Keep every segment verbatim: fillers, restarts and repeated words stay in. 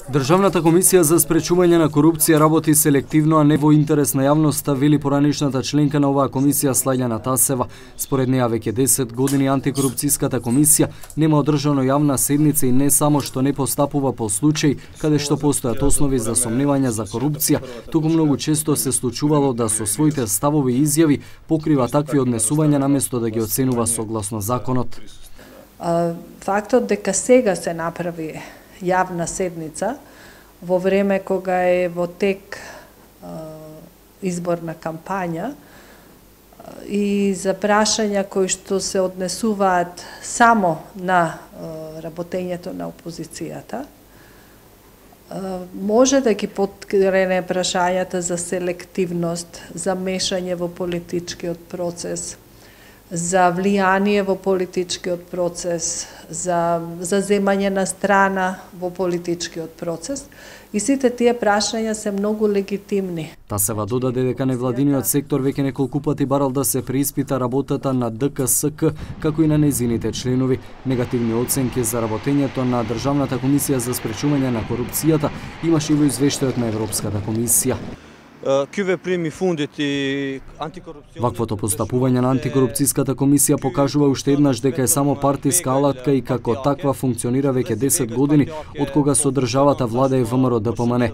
Државната комисија за спречување на корупција работи селективно, а не во интерес на јавноста, вели поранишната членка на оваа комисија Слајлјана Тасева. Според неа веќе десет години антикорупцијската комисија нема одржано јавна седница и не само што не постапува по случај каде што постојат основи за сомневања за корупција, туку многу често се случувало да со своите ставови и изјави покрива такви однесувања наместо да ги оценува согласно законот. Фактот дека сега се направи јавна седница во време кога е во тек изборна кампања и за прашања кои што се однесуваат само на работењето на опозицијата, може да ги подкрене прашањата за селективност, за мешање во политичкиот процес, за влијание во политичкиот процес, за за земање на страна во политичкиот процес, и сите тие прашања се многу легитимни. Тасева додаде дека невладиниот сектор веќе неколку пати барал да се преиспита работата на Д К С К, како и на нејзините членови. Негативни оценки за работењето на Државната комисија за спречување на корупцијата имаше и во извештајот на Европската комисија. Ваквото постапување на антикорупцијската комисија покажува уште еднаш дека е само партиска алатка и како таква функционира веќе десет години од кога со државата владее В М Р Д П М Н.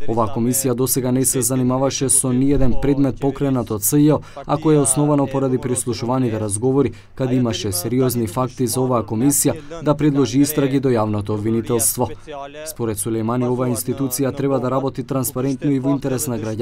Оваа комисија досега не се занимаваше со ниеден предмет покренат од С Ј О, а кој е основано поради прислушуваните разговори, каде имаше сериозни факти за оваа комисија да предложи истраги до јавното обвинителство. Според Сулејмани, оваа институција треба да работи транспарентно и во интерес на граѓаните,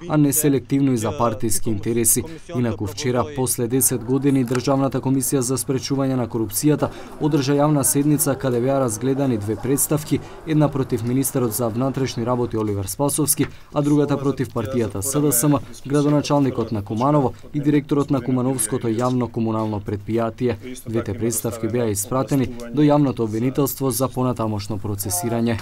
а не селективно и за партиски интереси. Инаку вчера, после десет години, Државната комисија за спречување на корупцијата одржа јавна седница каде беа разгледани две представки, една против министерот за внатрешни работи Оливер Спасовски, а другата против партијата С Д С М, градоначалникот на Куманово и директорот на Кумановското јавно комунално предпријатие. Двете представки беа испратени до јавното обвинителство за понатамошно процесирање.